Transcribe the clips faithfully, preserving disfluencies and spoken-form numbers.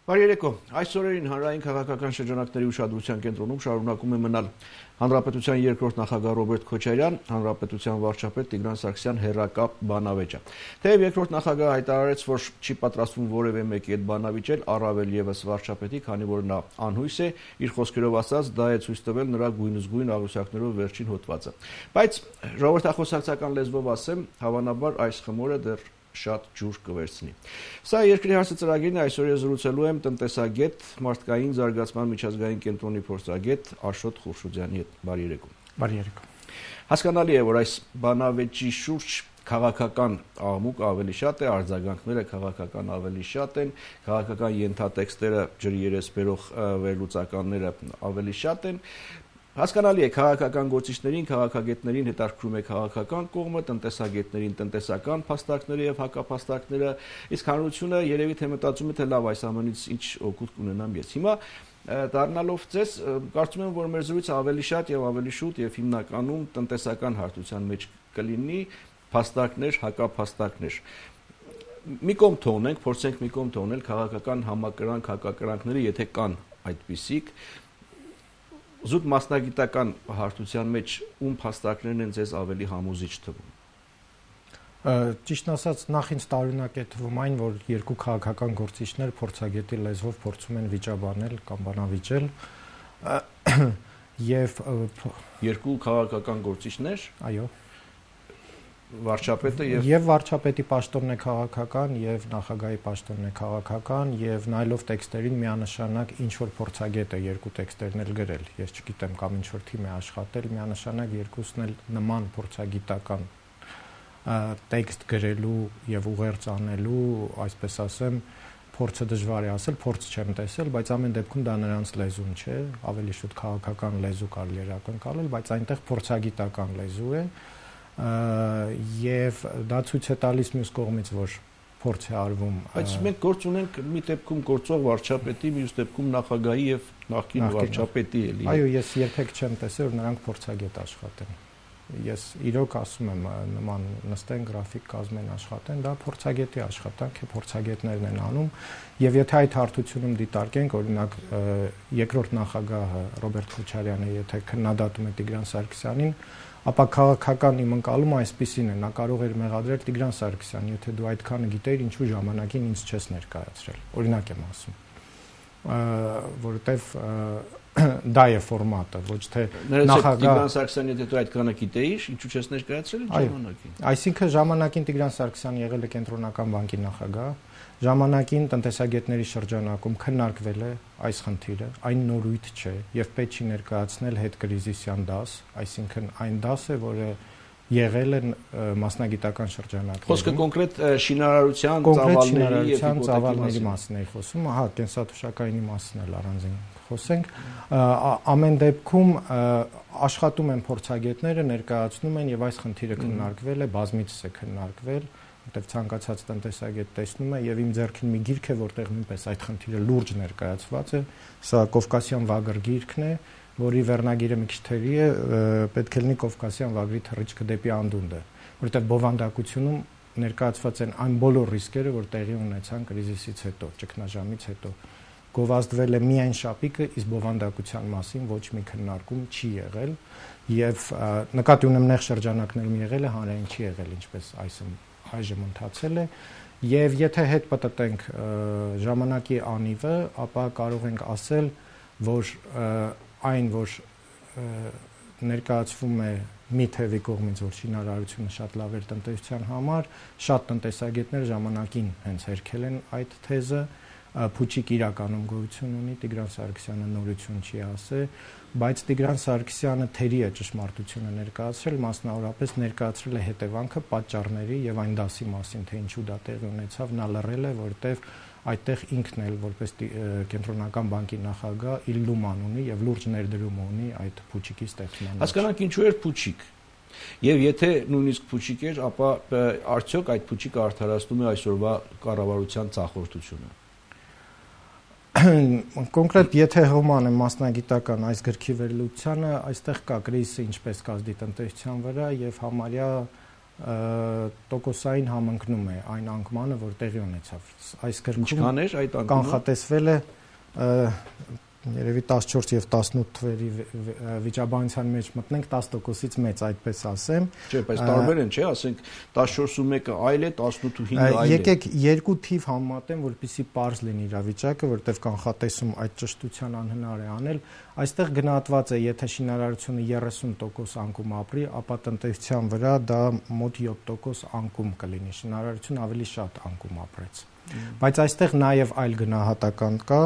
Բարի երեկո, այս օրերին հանրային քաղաքական շրջանակների ուշադրության կենտրոնում շարունակում է մնալ Հանրապետության երկրորդ նախագահ Ռոբերտ Քոչարյան, Հանրապետության վարչապետ Տիգրան Սարգսյան հեռակապ բանավեճը։ Թեև երկրորդ նախագահը հայտարարեց, որ չի պատրաստվում որևէ մեկի հետ բանավիճել, առավել ևս վարչապետի, քանի որ նա անհույս է, իր խոսքերով ասած, դա է ցույց տվել նրա գույնզգույն աղյուսակներով վերջին հոդվածը։ Բայց ժողովրդախոսակցական լեզվով ասեմ, հավանաբար այս խմորը դեռ շատ ջուր կվերցնի։ Սա երկրի հարցը ծրագիրն է, այսօր ես զրուցելու եմ տնտեսագետ, մարդկային զարգացման միջազգային կենտրոնի փորձագետ Աշոտ Խուրշուդյանի հետ։ Բարի երեկո։ Բարի երեկո։ Հասկանալի է, որ այս բանավեճի շուրջ քաղաքական աղմուկ ավելի շատ է, արձագանքները քաղաքական ավելի շատ են, քաղաքական ենթատեքստերը, ջրի երես բերող վերլուծականները ավելի շատ են։ Հասկանալի է, քաղաքական գործիչներին, քաղաքագետներին հետաքրքրում է քաղաքական կողմը, տնտեսագետներին տնտեսական փաստարկները եւ հակափաստարկները, իսկ հանրությունը երևի թե մտածում է, թե լավ, այս ամենից ինչ օգուտ կունենամ ես։ Հիմա դառնալով ձեզ, կարծում եմ, որ մեր զրույցը ավելի շատ եւ ավելի շուտ եւ հիմնականում տնտեսական հարթության մեջ կլինի, փաստարկներ, հակափաստարկներ։ Մի կողմ թողնենք, փորձենք մի կողմ թողնել քաղաքական համակրանք, հակակրանքները, եթե կան այդպիսիք, զուտ մասնագիտական հարթության մեջ ում փաստարկներն են ձեզ ավելի համոզիչ թվում։ Ճիշտն ասած, նախ ինձ տարօրինակ է թվում այն, որ երկու քաղաքական գործիչներ փորձագետի լեզվով փորձում են վիճաբանել կամ բանավիճել եւ երկու քաղաքական գործիչներ, այո, վարչապետը եւ եւ վարչապետի պաշտոնն է քաղաքական եւ նախագահի պաշտոնն է քաղաքական եւ նայելով տեքստերին միանշանակ ինչ որ փորձագետ է երկու տեքստերն էլ գրել, ես չգիտեմ կամ ինչ որ թիմ է աշխատել, միանշանակ երկուսն էլ նման փորձագիտական տեքստ գրելու եւ ուղերձ անելու, այսպես ասեմ, փորձը դժվար է ասել, փորձ չեմ տեսել, բայց ամեն դեպքում դա նրանց լեզուն չէ, ավելի շուտ քաղաքական լեզու կարելի է ակնկալել, բայց այնտեղ փորձագիտական լեզու է եւ դա ցույց է տալիս մյուս կողմից, որ փորձ է արվում։ Բայց մենք գործ ունենք մի դեպքում գործող վարչապետի, մյուս դեպքում նախագահի եւ նախկին վարչապետի էլի։ Այո, ես երբեք չեմ տեսել, որ նրանք փորձագետ աշխատեն։ Ես իրոք ասում եմ, նման նստեն գրաֆիկ կազմեն աշխատեն, դա փորձագետի աշխատանք է, փորձագետներն են անում եւ եթե այդ հարթությունում դիտարկենք, օրինակ երկրորդ նախագահը Ռոբերտ Քոչարյանը, եթե քննադատում է Տիգրան Սարգսյանին, ապա քաղաքական իմ ընկալումը այսպիսին է, նա կարող էր մեղադրել Տիգրան Սարգսյանին, եթե դու այդքանը գիտեիր, ինչու ժամանակին ինձ չես ներկայացրել։ Օրինակ եմ ասում, որովհետև դա է ֆորմատը, ոչ թե նախագահ Տիգրան Սարգսյանը, եթե դու այդքանը գիտեիր, ինչու չես ներկայացրել ժամանակին։ Այսինքն ժամանակին Տիգրան Սարգսյանը եղել է Կենտրոնական բանկի նախագահ, ժամանակին տնտեսագետների շրջանակում քննարկվել է այս խնդիրը, այն նորույթ չէ եւ պետք չի ներկայացնել հետկրիզիսյան դաս, այսինքն այն դասը, որը եղել է մասնագիտական շրջանակներում։ Խոսքը կոնկրետ շինարարության, ծավալների եւ ծավալների մասին է խոսում, ահա կենսաթոշակայինի մասին էլ առանձին խոսենք։ Ամեն դեպքում աշխատում են փորձագետները, ներկայացնում են եւ այս խնդիրը քննարկվել է, բազմիցս է քննարկվել, որտեղ ցանկացած տնտեսագետ տեսնում է եւ իմ ձեռքին մի գիրք է, որտեղ նույնպես այդ խնդիրը լուրջ ներկայացված է, սա Կովկասյան վագր գիրքն է, որի վերնագիրը մի քիչ թերի է, պետք է լինի Կովկասյան վագրի թռիչքը դեպի անդունդը, որտեղ բովանդակությունում ներկայացված են այն բոլոր ռիսկերը, որ տեղի ունեցան կրիզիսից հետո, ճգնաժամից հետո։ Գովազդվել է միայն շապիկը, իսկ բովանդակության մասին ոչ մի քննարկում չի եղել եւ նկատի ունեմ նեղ շրջանակներում եղել է, հանրային չի եղել, ինչպես այսօր այժմ ընթացել է եւ եթե հետ պատտենք ժամանակի անիվը, ապա կարող ենք ասել, որ այն, որ ներկայացվում է մի թևի կողմից, որ շինարարությունը շատ լավ էր տնտեսության համար, շատ տնտեսագետներ ժամանակին հենց հերքել են այդ թեզը, Փուչիկ իրականում գոյություն ունի, Տիգրան Սարգսյանը նորություն չի ասել, բայց Տիգրան Սարգսյանը թերի է ճշմարտությունը ներկայացրել, մասնավորապես ներկայացրել է հետևանքը, պատճառների եւ այն դասի մասին, թե ինչու դա տեղի ունեցավ, նա լռել է, որտեղ այդտեղ ինքն էլ որպես Կենտրոնական բանկի նախագահ իր լուման ունի եւ լուրջ ներդրում ունի այդ Փուչիկի ստեղծման։ Հասկանանք ինչու էր Փուչիկ։ Եվ եթե նույնիսկ Փուչիկ էր, ապա արդյոք այդ Փուչիկը արդարացնում է այսօրվա կառավարության ծախորդությունը։ Կոնկրետ եթե հոման է մասնագիտական այս գրքի վերլուծությանը, այստեղ կա կրիզիսը ինչպես կազդի տնտեսության վրա եւ համարյա տոկոսային համընկնում է այն անկմանը, որ տեղի ունեցավ։ Այս գրքում ինչքան էր այդ անկումը կանխատեսվել է երևի տասնչորս եւ տասնութ թվերի վիճաբանության մեջ մտնենք տասը տոկոսից մեծ, այդպես ասեմ։ Չէ, բայց տարբեր են, չէ, ասենք տասնչորսը մեկը այլ է, տասնութը հինգը այլ է։ Եկեք երկու թիվ համեմատեմ, որպեսզի պարզ լինի իրավիճակը, որտեղ կանխատեսում այդ ճշտության անհնար է անել։ Այստեղ գնահատված է, եթե շինարարությունը երեսուն տոկոս անկում ապրի, ապա տնտեսության վրա դա մոտ յոթ տոկոս անկում կլինի։ Շինարարությունը ավելի շատ անկում ապրեց։ Բայց այստեղ նաև այլ գնահատական կա,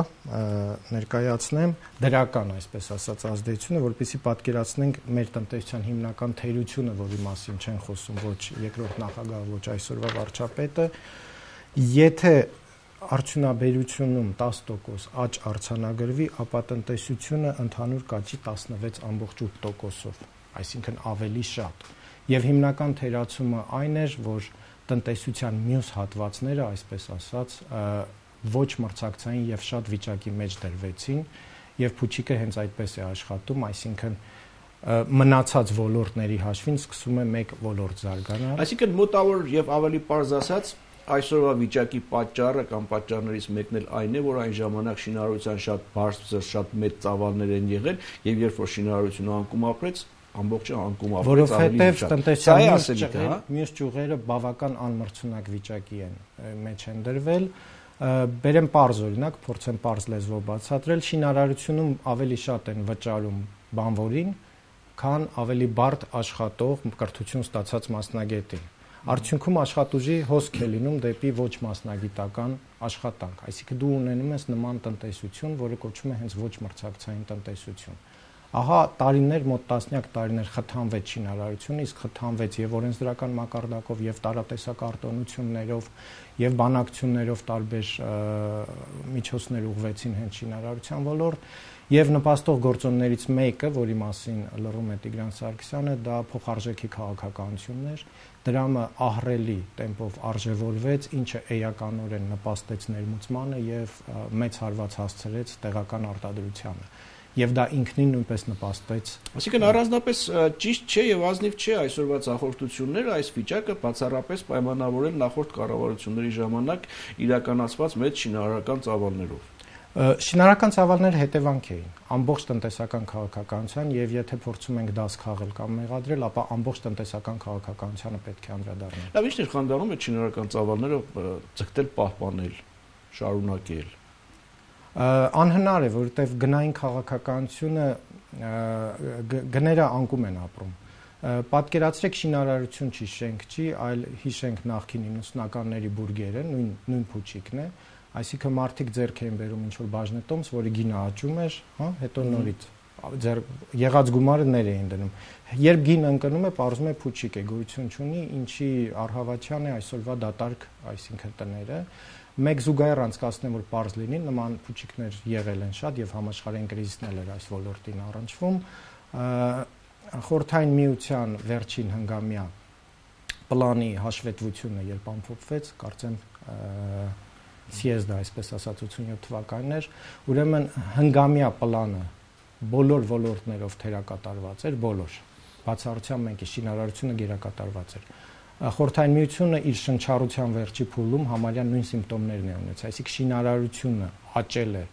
ներկայացնեմ դրական, այսպես ասած, ազդեցությունը, որպեսզի պատկերացնենք մեր տնտեսության հիմնական թերությունը, որի մասին չեն խոսում ոչ երկրորդ նախագահը, ոչ այսօրվա վարչապետը, եթե արդյունաբերությունում տասը տոկոս աճ արձանագրվի, ապա տնտեսությունը ընդհանուր կաճի տասնվեց ամբողջ ութ տոկոսով, այսինքն ավելի շատ։ Եվ հիմնական թերացումը այն էր, որ տնտեսության մյուս հատվածները, այսպես ասած, ոչ մրցակցային եւ շատ վիճակի մեջ դրվեցին, եւ փուչիկը հենց այդպես է աշխատում, այսինքն մնացած ոլորտների հաշվին սկսում է մեկ ոլորտ զարգանալ։ Այսինքն մոտավոր եւ ավելի պարզ ասած, այսօրվա վիճակի պատճառը կամ պատճառներից մեկն էլ այն է, որ այն ժամանակ շինարարության շատ բարձր, շատ մեծ ծավալներ են եղել, եւ երբ որ շինարարությունը անկում ապրեց, ամբողջը անկում ապրեց, որովհետև տնտեսության մյուս ճյուղերը բավական անմրցունակ վիճակի են մեջ են դրվել։ Բերեմ պարզ օրինակ, փորձեմ պարզ լեզվով բացատրել, շինարարությունում ավելի շատ են վճարում բանվորին, քան ավելի բարդ աշխատող կրթություն ստացած մասնագետին։ Արդյունքում աշխատուժի հոսք է լինում դեպի ոչ մասնագիտական աշխատանք, այսինքն դու ունենում ես նման տնտեսություն, որը կոչվում է հենց ոչ մրցակցային տնտեսություն։ Ահա տարիներ, մոտ տասնյակ տարիներ խթանվեց շինարարությունը, իսկ խթանվեց եւ օրենսդրական մակարդակով, եւ տարատեսակ արտոնություններով, եւ բանակցություններով տարբեր միջոցներ ուղղվեցին հենց շինարարության ոլորտ, եւ նպաստող գործոններից մեկը, որի մասին լռում է Տիգրան Սարգսյանը, դա փոխարժեքի քաղաքականությունն էր, դրամը ահռելի տեմպով արժևորվեց, ինչը էականորեն նպաստեց ներմուծմանը եւ մեծ հարված հասցրեց տեղական արտադրությանը։ Եվ դա ինքնին նույնպես նպաստեց։ Այսինքն առանձնապես ճիշտ չէ եւ ազնիվ չէ այսօրվա ցախորտությունները այս վիճակը բացառապես պայմանավորել նախորդ կառավարությունների ժամանակ իրականացված մեծ շինարարական ծավալներով։ Շինարարական ծավալները հետևանք էին ամբողջ տնտեսական քաղաքականության եւ եթե փորձում ենք դաս քաղել կամ մեղադրել, ապա ամբողջ տնտեսական քաղաքականությանը պետք է անդրադառնալ։ Լավ, ի՞նչ էր խանգարում այդ շինարարական ծավալները ձգտել, պահպանել, շարունակել։ Անհնար է, որովհետև գնային քաղաքականությունը գները անկում են ապրում։ Պատկերացրեք շինարարություն չի, շենք չի, այլ հիշենք նախկին իննսունականների բուրգերը, նույն նույն փուչիկն է, այսինքն մարդիկ ձեռք էին բերում ինչ-որ բաժնետոմս, որի գինը աճում էր, հա, հետո նորից ձեր եղած գումարը ներ էին դնում։ Երբ գինը ընկնում է, պարզվում է փուչիկ է, գոյություն չունի, ինչի առհավատյան է այսօրվա դատարկ, այսինքն տները։ Մեկ զուգահեռ անցկացնեմ, որ պարզ լինի, նման փուչիկներ եղել են շատ եւ համաշխարհային կրիզիսներ էր այս ոլորտին առնչվում։ Խորհրդային միության վերջին հնգամյա պլանի հաշվետվությունը երբ ամփոփվեց, կարծեմ սիեզդը, այսպես ասած, ութսունյոթ թվականն էր, ուրեմն հնգամյա պլանը բոլոր ոլորտներով թերակատարված էր, բոլոր։ Բացառությամբ մենք շինարարությունը գերակատարված էր։ Խորհրդային միությունը իր շնչառության վերջի փուլում համարյա նույն սիմպտոմներն է ունեցել, այսինքն շինարարությունը աճել է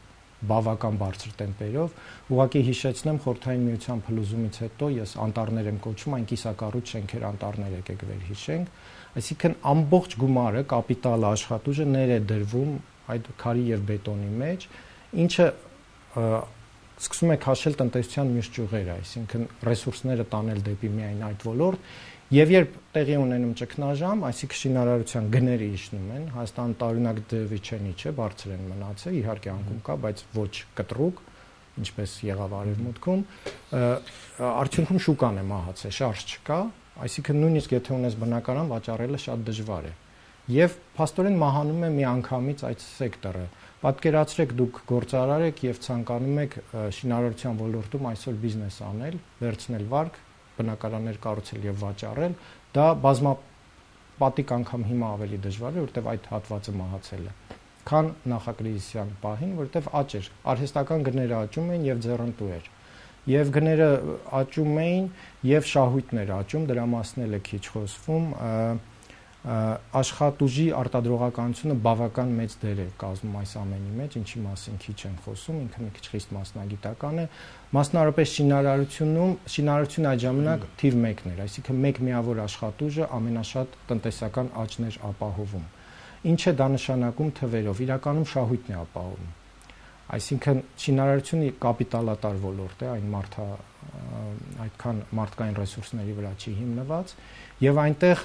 բավական բարձր տեմպերով, ուղղակի հիշեցնեմ խորհրդային միության փլուզումից հետո ես անտառներ եմ կոչում, այն կիսակառույց շենքեր անտառներ եկեք վեր հիշենք, այսինքն ամբողջ գումարը, կապիտալը, աշխատուժը ներ է դրվում այդ քարի եւ բետոնի մեջ, ինչը սկսում է քաշել տնտեսության մյուս ճյուղերը, այսինքն ռեսուրսները տանել դեպի միայն այդ ոլորտ, եւ երբ տեղի ունենում ճգնաժամ, այսինքն շինարարության գները իջնում են, Հայաստանը տարօրինակ դեպի չենի չէ, բարձր են մնացել, իհարկե անկում կա, բայց ոչ կտրուկ, ինչպես եղավ արևմուտքում, արդյունքում շուկան է մահացել, շարժ չկա, այսինքն նույնիսկ եթե ունես բնակարան, վաճառելը շատ դժվար է։ Եվ փաստորեն մահանում է միանգամից այդ սեկտորը։ Պատկերացրեք դուք գործարար եք եւ ցանկանում եք շինարարության ոլորտում այսօր բիզնես անել, վերցնել վարկ, բնակարաններ կառուցել եւ վաճառել, դա բազմապատիկ անգամ հիմա ավելի դժվար է, որովհետեւ այդ հատվածը մահացել է, քան նախակրիզիսյան պահին, որովհետեւ աճ էր, արհեստական գները աճում են եւ ձեռնտու էր։ եւ գները աճում էին եւ շահույթներ աճում, դրա մասն էլ է քիչ խոսվում, աշխատուժի արտադրողականությունը բավական մեծ դեր է կազմում այս ամենի մեջ, ինչի մասին քիչ են խոսում, ինքը մի քիչ խիստ մասնագիտական է, մասնարարպես շինարարությունում, շինարարությունը այդ ժամանակ թիվ մեկն էր, այսինքն մեկ միավոր աշխատուժը ամենաշատ տնտեսական աճն էր ապահովում։ Ինչ է դա նշանակում թվերով, իրականում շահույթն է ապահովում։ Այսինքն շինարարությունը կապիտալատար ոլորտ է, այն մարդա այդքան մարդկային ռեսուրսների վրա չի հիմնված, եւ այնտեղ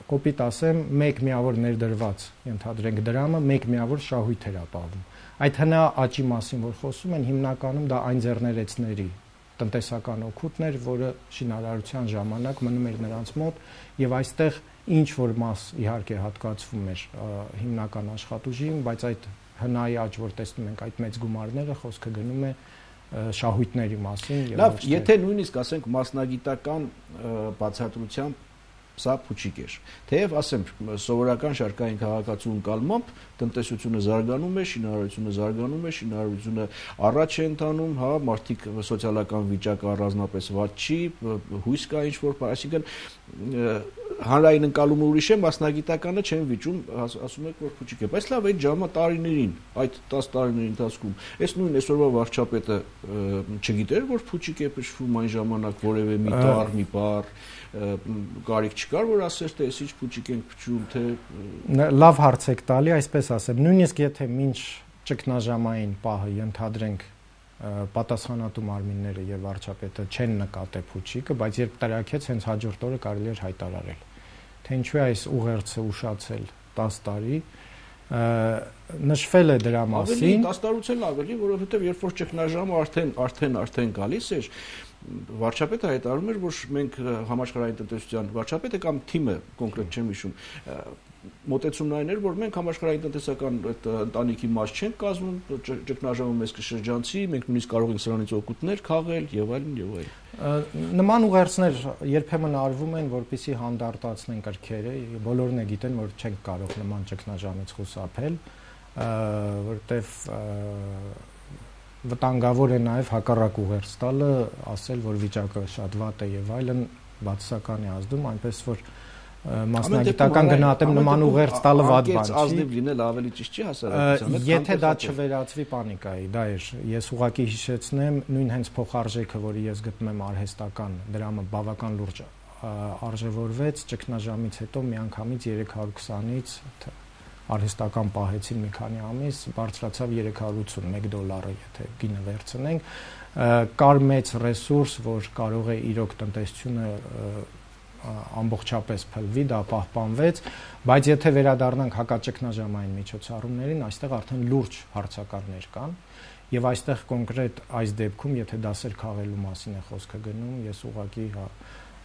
կոպիտ ասեմ, մեկ միավոր ներդրված, ենթադրենք դրամը, մեկ միավոր շահույթ էր ապահովում։ Այդ հնա աճի մասին, որ խոսում են, հիմնականում դա այն ձեռներեցների տնտեսական օգուտն էր, որը շինարարության ժամանակ մնում էր նրանց մոտ, եւ այստեղ ինչ որ մաս իհարկե հատկացվում էր հիմնական աշխատուժին, բայց այդ հնայի աճ, որ տեսնում ենք այդ մեծ գումարները, խոսքը գնում է շահույթների մասին։ Լավ, եթե նույնիսկ ասենք մասնագիտական բացատրությամբ սա փուչիկ էր։ Թեև ասեմ, սովորական շարքային քաղաքացու ընկալմամբ տնտեսությունը զարգանում է, շինարարությունը զարգանում է, շինարարությունը առաջ է ընթանում, հա, մարդիկ սոցիալական վիճակը առանձնապես վատ չի, հույս կա ինչ-որ, այսինքն հանրային ընկալումը ուրիշ է, մասնագիտականը չեն վիճում, ասում եք, որ փուչիկ է, բայց լավ, այդ ժամը տարիներին, այդ տասը տարիների ընթացքում, այս նույն այսօրվա վարչապետը չգիտեր, որ փուչիկ է փշվում այն ժամանակ որևէ մի տառ, մի բառ, կարիք չկար, որ ասեր, թե այս ինչ փուչիկ ենք փչում, թե լավ հարց եք տալի, այսպես ասեմ, նույնիսկ եթե մինչ ճգնաժամային պահը ենթադրենք պատասխանատու մարմինները եւ վարչապետը չեն նկատե փուչիկը, բայց երբ տրակեց, հենց հաջորդ օրը կարելի էր հայտարարել, թե ինչու է այս ուղերձը ուշացել տասը տարի, նշվել է դրա մասին։ Ավելի տասը տարուց էլ ավելի, որովհետեւ երբ որ ճգնաժամը արդեն արդեն արդեն գալիս էր, վարչապետը հայտարարում էր, որ մենք համաշխարհային տնտեսության վարչապետը կամ թիմը կոնկրետ չեմ հիշում, մոտեցումն այն էր, որ մենք համաշխարհային տնտեսական ընտանիքի մաս չենք կազմում, ճգնաժամը մեզ կշրջանցի, մենք նույնիսկ կարող ենք սրանից օգուտներ քաղել եւ այլն եւ այլն։ Նման ուղերձներ երբեմն արվում են, որպեսզի հանդարտացնեն կրքերը, բոլորն է գիտեն, որ չենք կարող նման ճգնաժամից խուսափել, որտեվ վտանգավոր է նաև հակառակ ուղերձ տալը, ասել, որ վիճակը շատ վատ է եւ այլն, բացասական է ազդում, այնպես որ մասնագիտական գնահատեմ նման ուղերձ տալը վատ բան չի։ Ազնիվ լինել ավելի ճիշտ չի հասարակության հետ։ Եթե դա չվերածվի պանիկայի, դա էր։ Ես ուղղակի հիշեցնեմ նույն հենց փոխարժեքը, որը ես գտնում եմ արհեստական, դրամը բավական լուրջ արժևորվեց ճգնաժամից հետո միանգամից երեք հարյուր քսանից արհեստական պահեցին մի քանի ամիս, բարձրացավ երեք հարյուր ութսուն, մեկ դոլարը, եթե գինը վերցնենք, կար մեծ ռեսուրս, որ կարող է իրոք տնտեսությունը ամբողջապես փլվի, դա պահպանվեց, բայց եթե վերադառնանք հակաճգնաժամային միջոցառումներին, այստեղ արդեն լուրջ հարցակարներ կան, եւ այստեղ կոնկրետ այս դեպքում, եթե դասեր քաղելու մասին է խոսքը գնում, ես ուղղակի հա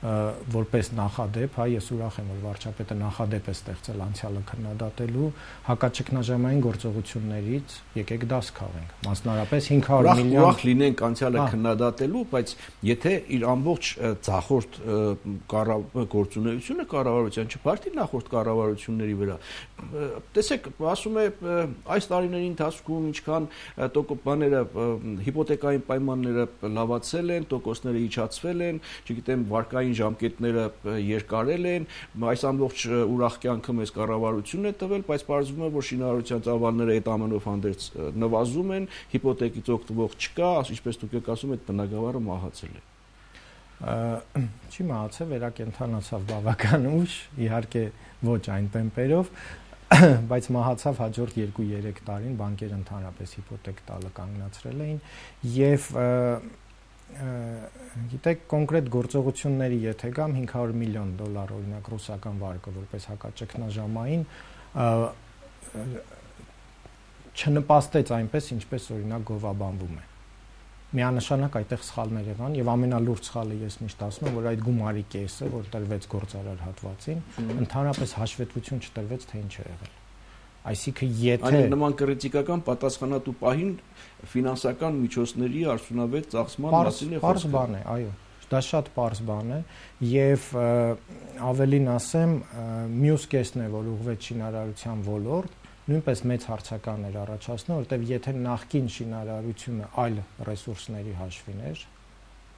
որպես նախադեպ, հա, ես ուրախ եմ, որ վարչապետը նախադեպ է ստեղծել անցյալը քննադատելու, հակաճգնաժամային գործողություններից եկեք դաս քաղենք, մասնարարպես հինգ հարյուր միլիոն ուրախ լինենք անցյալը քննադատելու, բայց եթե իր ամբողջ ցախորդ գործունեությունը կառավարության չփարթի նախորդ կառավարությունների վրա, տեսեք, ասում է այս տարիների ընթացքում ինչքան բաները հիպոթեկային պայմանները լավացել են, տոկոսները իջացվել են, չգիտեմ, վարկային ժամկետները երկարել են, այս ամբողջ ուրախ կյանքը մեզ կառավարությունն է տվել, բայց պարզվում է, որ շինարարության ծավալները այդ ամենով հանդերձ նվազում են, հիպոթեկից օգտվող չկա, ինչպես դուք եք ասում, այդ բնակավարը մահացել է։ Չի մահացել, վերակենդանացավ բավական ուշ, իհարկե ոչ այն տեմպերով, բայց մահացավ հաջորդ երկու-երեք տարին, բանկերը ընդհանրապես հիպոթեկ տալը կանգնացրել էին եւ գիտեք կոնկրետ գործողությունների եթե գամ հինգ հարյուր միլիոն դոլար օրինակ ռուսական վարկը որպես հակաճգնաժամային չնպաստեց այնպես ինչպես օրինակ գովաբանվում է միանշանակ այդտեղ սխալներ եղան եւ ամենալուրջ սխալը ես միշտ ասում եմ որ այդ գումարի կեսը որ տրվեց գործարար հատվածին ընդհանրապես հաշվետվություն չտրվեց թե ինչ է եղել այսինքն եթե այն նման կրիտիկական պատասխանատու պահին ֆինանսական միջոցների արդյունավետ ծախսման մասին է խոսքը բան է այո դա շատ պարզ բան է եւ ավելին ասեմ մյուս կեսն է որ ուղղվեց շինարարության ոլորտ նույնպես մեծ հարցականներ առաջացնում, որտեղ եթե նախկին շինարարությունը այլ ռեսուրսների հաշվին էր,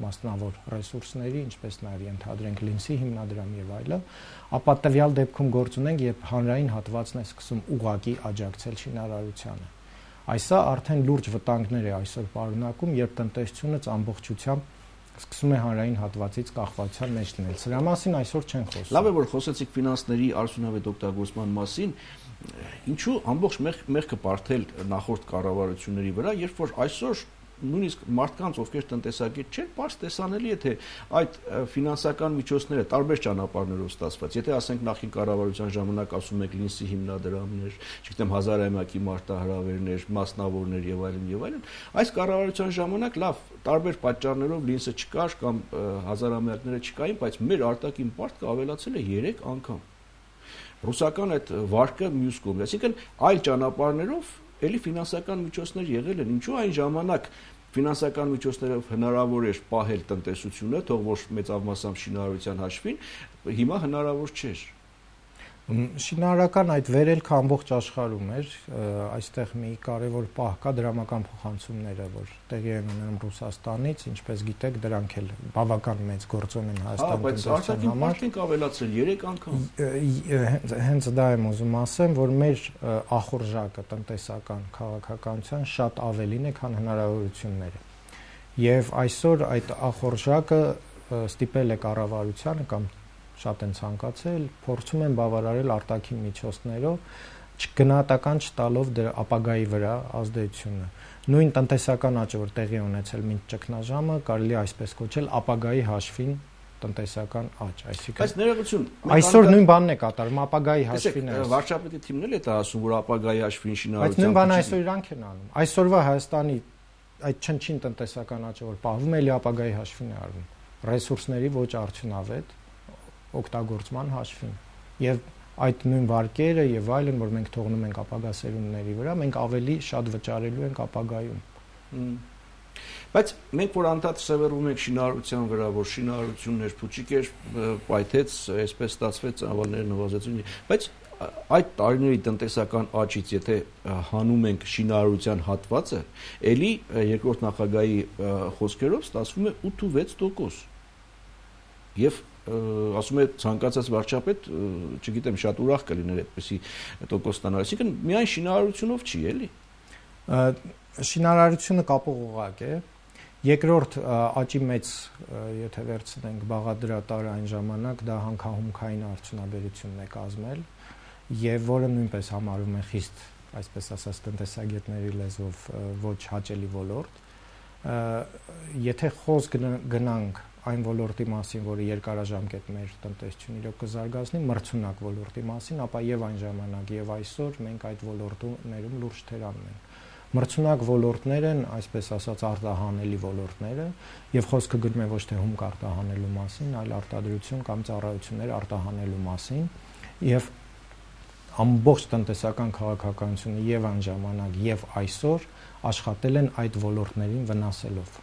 մասնավոր ռեսուրսների, ինչպես նաև ենթադրենք լինսի հիմնադրամ եւ այլը, ապա տվյալ դեպքում գործ ունենք, երբ հանրային հատվածն է սկսում ուղղակի աջակցել շինարարությանը։ Այսա արդեն լուրջ վտանգներ է այսօր պարունակում, երբ տնտեսությունից ամբողջությամբ սկսում է հանրային հատվածից կախվածության մեջ լինել։ Սրա մասին այսօր չեն խոսում։ Լավ է, որ խոսեցիք ֆինանսների արդյունավետ օգտագործման մասին, ինչու ամբողջ մեղքը բարթել նախորդ կառավարությունների վրա, երբ որ այսօր նույնիսկ մարդկանց, ովքեր տնտեսագետ չեն, պարզ տեսանելի է, թե այդ ֆինանսական միջոցները տարբեր ճանապարհներով ստացված։ Եթե ասենք նախին կառավարության ժամանակ ասում եք լինսի հիմնադրամներ, չգիտեմ հազարամյակի մարտահրավերներ, մասնավորներ եւ այլն եւ այլն, այս կառավարության ժամանակ լավ տարբեր պատճառներով լինսը չկար կամ հազարամյակները չկային, բայց մեր արտաքին պարտքը ավելացել է երեք անգամ։ Ռուսական այդ վարկը մյուս կողմից, այսինքն այլ ճանապարհներով էլի ֆինանսական միջոցներ եղել են, ինչու այն ժամանակ ֆինանսական միջոցներով հնարավոր էր պահել տնտեսությունը, թող որ մեծավ մասամբ շինարարության հաշվին, հիմա հնարավոր չէր։ Շինարարական այդ վերելքը ամբողջ աշխարհում էր, այստեղ մի կարևոր պահ կա դրամական փոխանցումները, որ տեղի են ունենում Ռուսաստանից, ինչպես գիտեք, դրանք էլ բավական մեծ գործոն են Հայաստանի տնտեսության համար։ Բայց արտաքին ավելացել երեք անգամ։ Հենց դա եմ ուզում ասեմ, որ մեր ախորժակը տնտեսական քաղաքականության շատ ավելին է, քան հնարավորությունները։ Եվ այսօր այդ ախորժակը ստիպել է կառավարությանը կամ շատ են ցանկացել, փորձում են բավարարել արտաքին միջոցներով, չգնահատական չտալով դրա ապագայի վրա ազդեցությունը։ Նույն տնտեսական աճը, որ տեղի ունեցել մինչ ճգնաժամը, կարելի է այսպես կոչել ապագայի հաշվին տնտեսական աճ, այսինքն Բայց ներողություն, այսօր նույն բանն է կատարում, ապագայի հաշվին է։ Վարչապետի թիմն էլ է դա ասում, որ ապագայի հաշվին շինարարության։ Բայց նույն բանը այսօր իրանք են անում։ Այսօրվա Հայաստանի այդ չնչին տնտեսական աճը, որ պահվում է, էլի ապագայի հաշվին է արվում։ Ռեսուրսների ոչ արդյունավետ օգտագործման հաշվին եւ այդ նույն վարկերը եւ այլն, որ մենք թողնում ենք ապագա սերունդների վրա, մենք ավելի շատ վճարելու ենք ապագայում։ Բայց մենք որ անդադ սևեռում ենք շինարարության վրա, որ շինարարությունն էր փուչիկ էր, պայթեց, այսպես ստացվեց, ավալները նվազեցին, բայց այդ տարիների տնտեսական աճից, եթե հանում ենք շինարարության հատվածը, ելի երկրորդ նախագահի խոսքերով ստացվում է ութ-վեց տոկոս։ Եվ ասում է ցանկացած վարչապետ, չգիտեմ, շատ ուրախ կլիներ այդպեսի տոկոս ստանալ, այսինքն միայն շինարարությունով չի, էլի։ Շինարարությունը կապող օղակ է։ Երկրորդ աճի մեծ, եթե վերցնենք բաղադրատար այն ժամանակ, դա հանքահումքային արդյունաբերությունն է կազմել եւ որը նույնպես համարվում է խիստ, այսպես ասած, տնտեսագետների լեզվով ոչ հաճելի ոլորտ։ Եթե խոսք գնանք այն ոլորտի մասին, որը երկարաժամկետ մեր տնտեսությունն իրոք կզարգացնի, մրցունակ ոլորտի մասին, ապա եւ այն ժամանակ եւ այսօր մենք այդ ոլորտներում լուրջ թերանում ենք։ Մրցունակ ոլորտներ են, այսպես ասած, արտահանելի ոլորտները, եւ խոսքը գնում է ոչ թե հումք արտահանելու մասին, այլ արտադրություն կամ ծառայություններ արտահանելու մասին, եւ ամբողջ տնտեսական քաղաքականությունը եւ այն ժամանակ եւ այսօր աշխատել են այդ ոլորտներին վնասելով։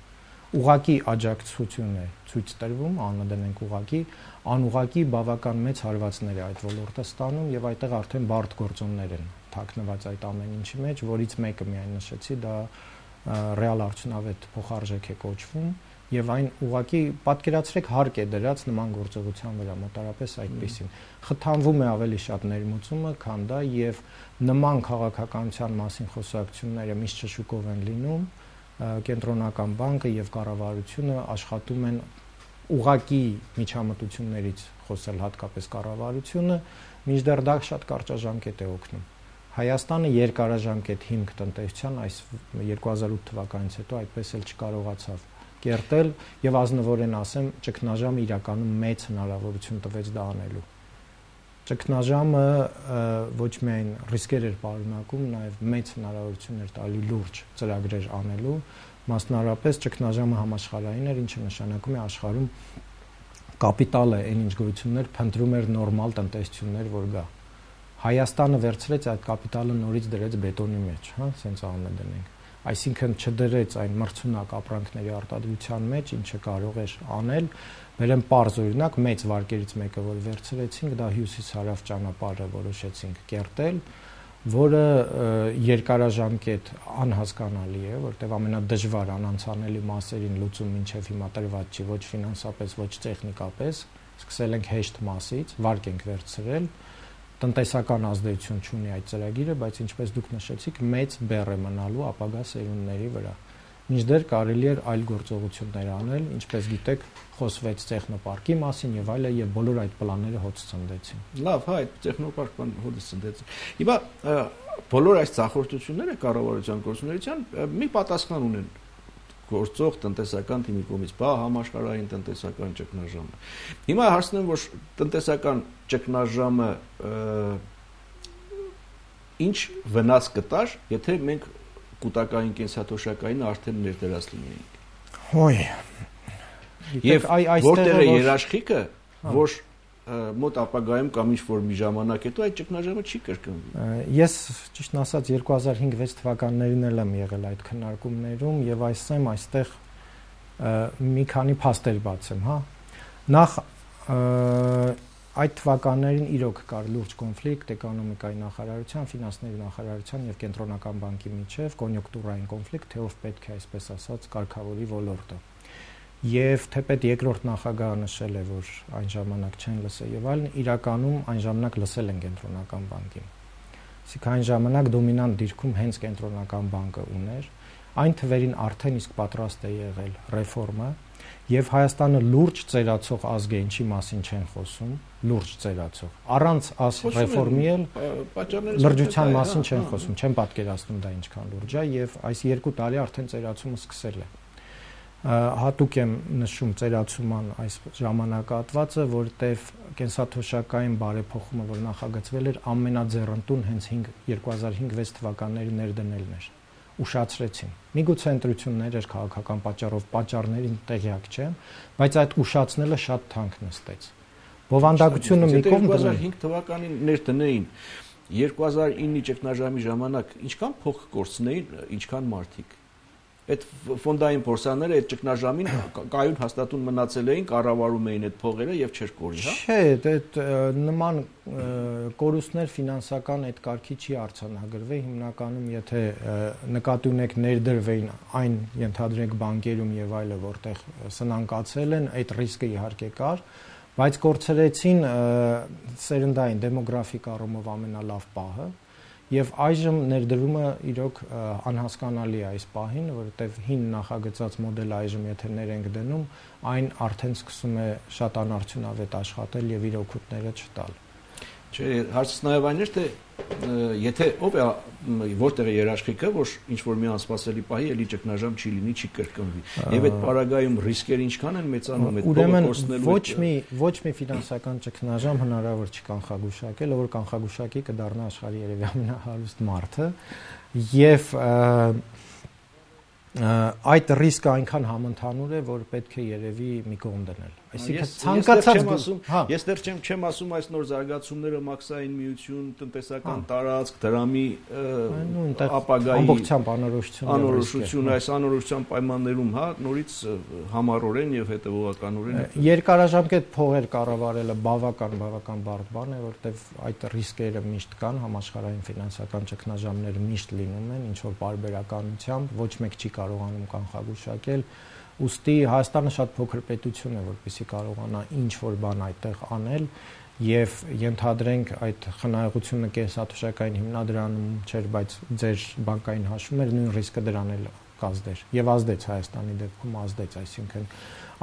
Ուղղակի աջակցություն է ցույց տրվում, անընդհատ ուղղակի, անուղղակի բավական մեծ հարվածներ է այդ ոլորտը ստանում եւ այդտեղ արդեն բարդ գործոններ են թաքնված այդ ամեն ինչի մեջ, որից մեկը միայն նշեցի, դա ռեալ արդյունավետ փոխարժեք է կոչվում եւ այն ուղղակի պատկերացրեք հարկ է դրած նման գործողության վրա, մոտարապես այդպեսին։ Խթանվում է ավելի շատ ներմուծումը, քան դա եւ նման քաղաքականության մասին խոսակցությունները միշտ շշուկով են լինում։ Կենտրոնական բանկը եւ կառավարությունը աշխատում են ուղղակի միջամտություններից խոսել, հատկապես կառավարությունը, մինչդեռ դա շատ կարճաժամկետ է օգնում։ Հայաստանը երկարաժամկետ հիմք տնտեսության այս երկու հազար ութ թվականից հետո այդպես էլ չկարողացավ կերտել եւ ազնվորեն ասեմ, ճգնաժամը իրականում մեծ հնարավորություն տվեց դա անելու։ Ճգնաժամը ոչ միայն ռիսկեր էր պարունակում, նաև մեծ հնարավորություն էր տալի լուրջ ծրագրեր անելու, մասնավորապես ճգնաժամը համաշխարհային էր, ինչը նշանակում է աշխարհում կապիտալը այն ինչ գույություններ փնտրում էր նորմալ տնտեսություններ, որ գա։ Հայաստանը վերցրեց այդ կապիտալը նորից դրեց բետոնի մեջ, հա, սենց անը դնենք։ Այսինքն չդրեց այն մրցունակ ապրանքների արտադրության մեջ, ինչը կարող էր անել։ Բերեմ պարզ օրինակ, մեծ վարկերից մեկը, որ վերցրեցինք, դա հյուսիս-հարավ ճանապարհը որոշեցինք կերտել, որը երկարաժամկետ անհասկանալի է, որտեղ ամենադժվար անանցանելի մասերին լուծում մինչև հիմա տրված չի, ոչ ֆինանսապես, ոչ տեխնիկապես, սկսել ենք հեշտ մասից, վարկ ենք վերցրել, տնտեսական ազդեցություն չունի այդ ծրագիրը, բայց ինչպես դուք նշեցիք, մեծ բեռ է մնալու ապագա սերունդների վրա։ Մինչդեռ կարելի էր այլ գործողություններ անել, ինչպես գիտեք, խոսվեց տեխնոպարկի մասին եւ այլը, եւ բոլոր այդ պլանները հոց ցնդեցին։ Լավ, հա, այդ տեխնոպարկն հոց ցնդեցին։ Հիմա բոլոր այս ցախորդությունները կառավարության գործունեության մի պատասխան ունեն գործող տնտեսական թիմի կողմից, բա համաշխարհային տնտեսական ճգնաժամը։ Հիմա հարցնում եմ, որ տնտեսական ճգնաժամը ինչ վնաս կտար, եթե մենք կൂട്ടակային կենսաթոշակային արդեն ներդրած լինեինք։ Հոյ։ Եվ որտեղ է երաշխիքը, որ մոտ ապագայում կամ ինչ-որ մի ժամանակ հետո այդ ճգնաժամը չի կրկնվի։ Ես ճիշտն ասած երկու հազար հինգ վեց թվականներին էլ եմ եղել այդ քննարկումներում եւ այսեմ այստեղ մի քանի փաստեր բացեմ, հա։ Նախ այդ թվականներին իրոք կար լուրջ կոնֆլիկտ էկոնոմիկայի նախարարության, ֆինանսների նախարարության եւ կենտրոնական բանկի միջեւ, կոնյունկտուրային կոնֆլիկտ, թե ով պետք է այսպես ասած կարգավորի ոլորտը։ Եվ թեպետ երկրորդ նախագահը նշել է, որ այն ժամանակ չեն լսել եւ այլն, իրականում այն ժամանակ լսել են կենտրոնական բանկին։ Այսինքն այն ժամանակ դոմինանտ դիրքում հենց կենտրոնական բանկը ուներ, այն թվերին արդեն իսկ պատրաստ է եղել ռեֆորմը եւ Հայաստանը լուրջ ծերացող ազգ է, ինչի մասին չեն խոսում, լուրջ ծերացող։ Առանց աս ռեֆորմի էլ լրջության մասին չեն խոսում, չեն պատկերացնում դա ինչքան լուրջ է եւ այս երկու տարի արդեն ծերացումը սկսել է։ Հատուկ եմ նշում ծերացման այս ժամանակահատվածը, որտեղ կենսաթոշակային բարեփոխումը, որ նախագծվել էր, ամենաձեռնտուն հենց երկու հազար հինգ վեց թվականների ներդնելն էր։ Ուշացրեցին։ Միգուցե ընտրություններ էր քաղաքական պատճառով, պատճառներին տեղյակ չեմ, բայց այդ ուշացնելը շատ թանկ նստեց։ Բովանդակությունը մի կողմ երկու հազար հինգ թվականին ներդնեին, երկու հազար իննի ճգնաժամի ժամանակ ինչքան փող կորցնեին, ինչքան մարդիկ։ Այդ ֆոնդային փորձանները այդ ճգնաժամին կայուն հաստատուն մնացել էին, կառավարում էին այդ փողերը եւ չէր կորի, հա։ Չէ, այդ նման կորուստներ ֆինանսական այդ կարգի չի արձանագրվի, հիմնականում եթե նկատի ունեք ներդրվեին այն ենթադրենք բանկերում եւ այլը, որտեղ սնանկացել են, այդ ռիսկը իհարկե կար, բայց կորցրեցին սերնդային դեմոգրաֆիկ առումով ամենալավ պահը։ Եվ այժմ ներդրումը իրոք անհասկանալի է այս պահին, որովհետև հին նախագծած մոդելը այժմ եթե ներ ենք դնում, այն արդեն սկսում է շատ անարդյունավետ աշխատել եւ իր օգուտները չտալ։ Չէ, հարցը նաեւ այն էր, թե եթե ով է որտեղ է երաշխիքը, որ ինչ որ մի անսպասելի պահի էլի ճգնաժամ չի լինի, չի կրկնվի։ Եվ այդ պարագայում ռիսկերը ինչքան են մեծանում, այդ փողը կորցնելու։ Ոչ մի ոչ մի ֆինանսական ճգնաժամ հնարավոր չի կանխագուշակել, որ կանխագուշակի կդառնա աշխարհի երևի ամենահարուստ մարդը, եւ այդ ռիսկը այնքան համընդհանուր է, որ պետք է երևի մի կողմ դնել։ Այսինքն ցանկացած ես դեռ չեմ չեմ ասում այս նոր զարգացումները մաքսային միություն, տնտեսական տարածք, դրամի ապագայի ամբողջությամբ անորոշություն, անորոշություն, այս անորոշության պայմաններում, հա, նորից համառորեն եւ հետեւողականորեն երկարաժամկետ փողեր կառավարելը բավական բավական բարդ բան է, որտեղ այդ ռիսկերը միշտ կան, համաշխարհային ֆինանսական ճգնաժամները միշտ լինում են, ինչ որ բարբերականությամբ, ոչ մեկ չի կարողանում կանխագուշակել։ Ուստի Հայաստանը շատ փոքր պետություն է, որպեսզի կարողանա ինչ որ բան այդտեղ անել եւ ենթադրենք այդ խնայողությունը կենսաթոշակային հիմնադրանում չէր, բայց ձեր բանկային հաշվումներ նույն ռիսկը դրան էլ կազդեր եւ ազդեց Հայաստանի դեպքում ազդեց, այսինքն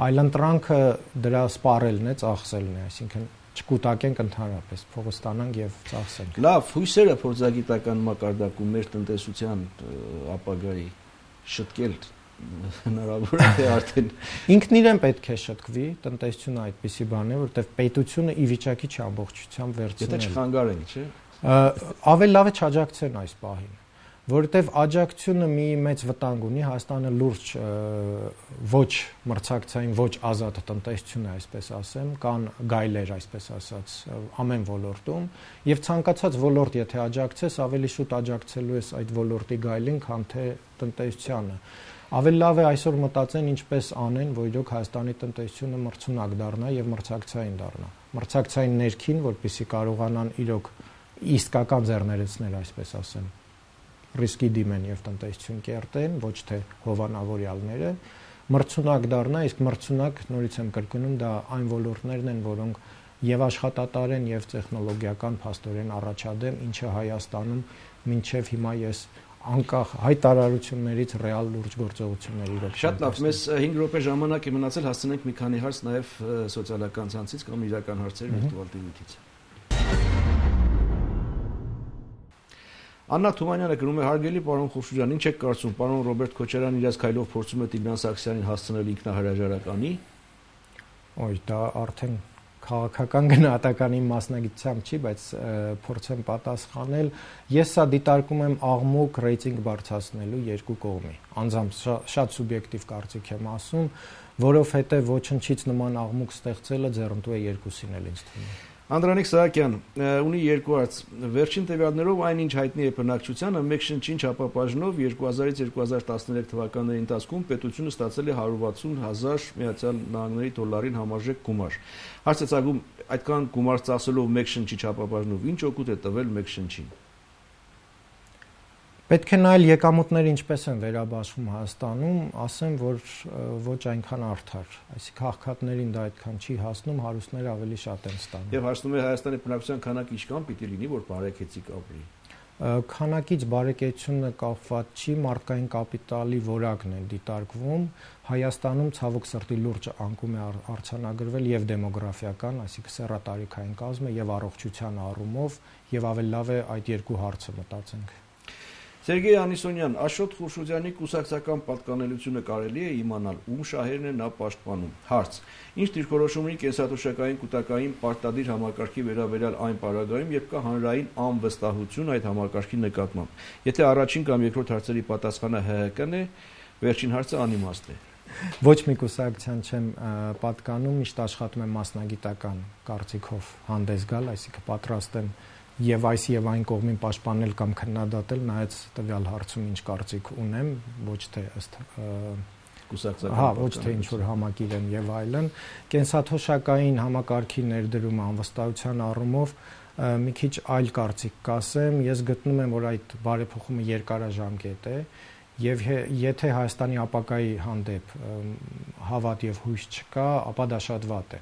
այլընտրանքը դրա սպառելն է, ծախսելն է, այսինքն չկուտակենք ընդհանրապես, փողը ստանանք եւ ծախսենք։ Լավ, հույսերը փորձագիտական մակարդակում մեր տնտեսության ապագայի շտկել հնարավոր է թե արդեն ինքն իրեն պետք է շտկվի, տնտեսությունը այդպիսի բան է, որտեղ պետությունը ի վիճակի չի ամբողջությամբ վերցնել։ Եթե չխանգարենք, չէ՞։ Ավելի լավ է չաջակցեն այս պահին, որովհետև աջակցությունը մի մեծ վտանգ ունի, Հայաստանը լուրջ ոչ մրցակցային, ոչ ազատ տնտեսություն է, այսպես ասեմ, կան գայլեր, այսպես ասած, ամեն ոլորտում, եւ ցանկացած ոլորտ եթե աջակցես, ավելի շուտ աջակցելու ես այդ ոլորտի գայլին, քան թե տնտեսությանը։ Ավելի լավ է այսօր մտածեն ինչպես անեն, որ իրոք Հայաստանի տնտեսությունը մրցունակ դառնա եւ մրցակցային դառնա։ Մրցակցային ներքին, որպեսզի կարողանան իրոք իսկական ձեռներեցներ, այսպես ասեմ, ռիսկի դիմեն եւ տնտեսություն կերտեն, ոչ թե հովանավորյալները, մրցունակ դառնա, իսկ մրցունակ, նորից եմ կրկնում, դա այն ոլորտներն են, որոնք եւ աշխատատար են եւ տեխնոլոգիական փաստորեն առաջադեմ, ինչը Հայաստանում մինչեւ հիմա ես անկախ հայտարարություններից ռեալ լուրջ գործողությունների իրոք։ Շատ լավ, մեզ հինգ րոպե ժամանակ է մնացել, հասցնենք մի քանի հարց նաեւ սոցիալական ցանցից կամ իրական հարցեր վիրտուալ տիվիից։ Աննա Թումանյանը գրում է. հարգելի պարոն Խուրշուջան, ինչ եք կարծում, պարոն Ռոբերտ Քոչարյանն իր քայլով փորձում է Տիգրան Սարգսյանին հասցնել ինքնահրաժարականի։ Ոյ, դա արդեն քաղաքական գնահատականի մասնագիտությամբ չի, բայց փորձեմ պատասխանել։ Ես սա դիտարկում եմ աղմուկ ռեյտինգ բարձրացնելու երկու կողմի։ Անձամբ շատ սուբյեկտիվ կարծիք եմ ասում, որովհետև ոչնչից նման աղմուկ ստեղծելը ձեռնտու է երկուսին էլ ինձ թվում է։ Անդրանիկ Սահակյան ունի երկու հարց։ Վերջին տվյալներով այնինչ հայտնի է բնակչությանը մեկ շնչին չափաբաժնով երկու հազարից երկու հազար տասներեք թվականների ընթացքում պետությունը ստացել է հարյուր վաթսուն հազար Միացյալ Նահանգների դոլարին համարժեք գումար։ Հարց է ցակում, այդքան գումար ծախսելով մեկ շնչի չափաբաժնով ինչ օգուտ է տվել մեկ շնչին։ Պետք է նայել եկամուտները ինչպես են վերաբաշխում Հայաստանում, ասեմ, որ ոչ այնքան արդար, այսինքն աղքատներին դա այդքան չի հասնում, հարուստները ավելի շատ են ստանում։ Եվ հասնում է Հայաստանի բնակչության քանակը ինչքան պիտի լինի, որ բարեկեցիկ ապրի։ Քանակից բարեկեցությունը կապված չի, մարդկային կապիտալի որակն է դիտարկվում։ Հայաստանում ցավոք սրտի լուրջ անկում է արձանագրվել եւ դեմոգրաֆիական, այսինքն սեռատարիքային կազմը եւ առողջության առումով, եւ ավելի լավ է այդ երկու հարցը մտածենք։ Սերգեյ Անիսոնյան, Աշոտ Խուրշուդյանի կուսակցական պատկանելությունը կարելի է իմանալ, ում շահերն են նա պաշտպանում։ Հարց. Ինչ դիրքորոշում ունի կենսաթոշակային կൂട്ടակային պարտադիր համակարգի վերաբերյալ այն պարագայում, երբ կա հանրային անվստահություն այդ համակարգի նկատմամբ։ Եթե առաջին կամ երկրորդ հարցերի պատասխանը ՀՀԿ-ն է, վերջին հարցը անիմաստ է։ Ոչ մի կուսակցության չեմ պատկանում, միշտ աշխատում եմ մասնագիտական կարծիքով հանդես գալ, այսինքն պատրաստ եմ եւ այս եւ այն կողմին պաշտպանել կամ քննադատել, նայած տվյալ հարցում ինչ կարծիք ունեմ, ոչ թե ըստ կուսակցական, հա, ոչ թե ինչ որ համակիր եմ եւ այլն, կենսաթոշակային համակարգի ներդրումը անվստահության առումով մի քիչ այլ կարծիք կասեմ, ես գտնում եմ, որ այդ բարեփոխումը երկարաժամկետ է եւ եթե Հայաստանի ապագայի հանդեպ հավատ եւ հույս չկա, ապա դա շատ վատ է։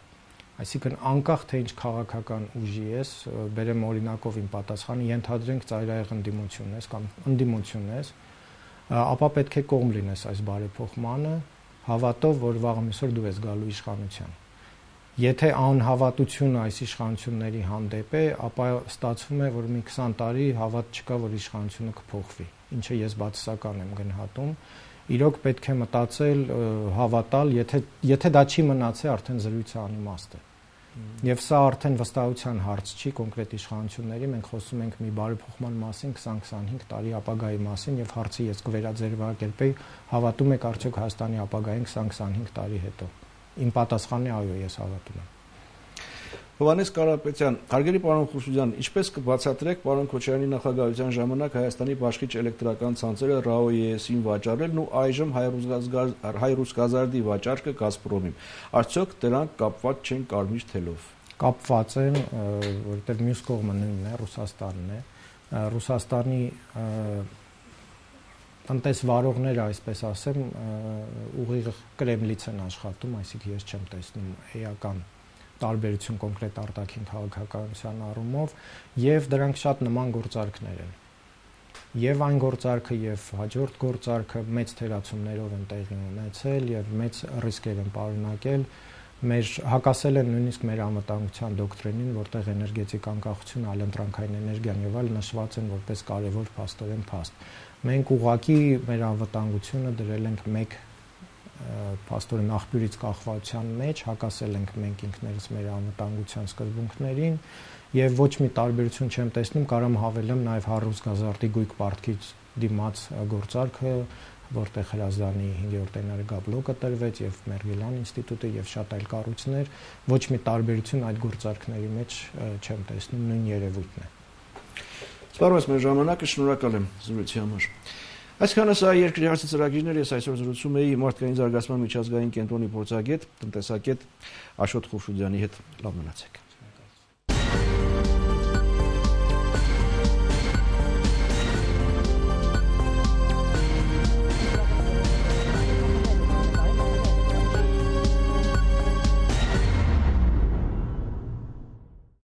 Այսինքն անկախ թե ինչ քաղաքական ուժի ես, բերեմ օրինակով իմ պատասխանը, ենթադրենք ծայրահեղ ընդդիմություն ես կամ ընդդիմություն ես, ապա պետք է կողմ լինես այս բարեփոխմանը, հավատով, որ վաղը միսօր դու ես գալու իշխանության։ Եթե անհավատությունը այս իշխանությունների հանդեպ է, ապա ստացվում է, որ մի քսան տարի հավատ չկա, որ իշխանությունը կփոխվի, ինչը ես բացասական եմ գնահատում։ Իրոք պետք է մտածել, հավատալ, եթե եթե դա չի մնացել, արդեն զրույցը անիմաստ է։ Եվ սա արդեն վստահության հարց չի կոնկրետ իշխանությունների, մենք խոսում ենք մի բարեփոխման մասին քսան քսանհինգ տարի ապագայի մասին եւ հարցը ես կվերաձերվակերպեի, հավատում եք արդյոք Հայաստանի ապագային քսան քսանհինգ տարի հետո։ Իմ պատասխանը այո, ես հավատում եմ։ Հովհաննես Կարապետյան, հարգելի պարոն Խուրշուդյան, ինչպես կբացատրեք պարոն Քոչարյանի նախագահության ժամանակ Հայաստանի բաշխիչ էլեկտրական ցանցերը ՌԱՕ-ԵՍ-ին վաճառելն ու այժմ Հայրուսգազարդի վաճառքը Գազպրոմին։ Արդյոք դրանք կապված չեն կարմիր թելով։ Կապված են, որովհետև մյուս կողմը նույնն է, Ռուսաստանն է։ Ռուսաստանի տնտեսվարողները, այսպես ասեմ, ուղիղ Կրեմլից են աշխատում, այսինքն ես չեմ տեսնում էական տարբերություն կոնկրետ արտաքին քաղաքականության առումով եւ դրանք շատ նման գործարքներ են։ Եվ այն գործարքը եւ հաջորդ գործարքը մեծ թերացումներով են տեղի ունեցել եւ մեծ ռիսկեր են պարունակել։ Մեր հակասել են նույնիսկ մեր անվտանգության դոկտրինին, որտեղ էներգետիկ անկախությունը, այլընտրանքային էներգիան եւ այլն նշված են որպես կարեւոր փաստորեն փաստ։ Մենք ուղղակի մեր անվտանգությունը դրել ենք մեկ փաստորեն աղբյուրից կախվածության մեջ, հակասել ենք մենք ինքներս մեր անվտանգության սկզբունքներին եւ ոչ մի տարբերություն չեմ տեսնում, կարամ հավելեմ նաեւ Հայրուսգազարդի գույք պարտքից դիմաց գործարքը, որտեղ Հրազդանի հինգերորդ էներգաբլոկը տրվեց եւ Մերգելյան ինստիտուտը եւ շատ այլ կառույցներ, ոչ մի տարբերություն այդ գործարքների մեջ չեմ տեսնում, նույն երևույթն է։ Սպառված մեր ժամանակը, շնորհակալ եմ զրույցի համար։ Այսքանը սա երկրի հարցի ծրագիրներ, ես այսօր զրուցում էի մարդկային զարգացման միջազգային կենտրոնի փորձագետ, տնտեսագետ Աշոտ Խուրշուդյանի հետ։ Լավ մնացեք։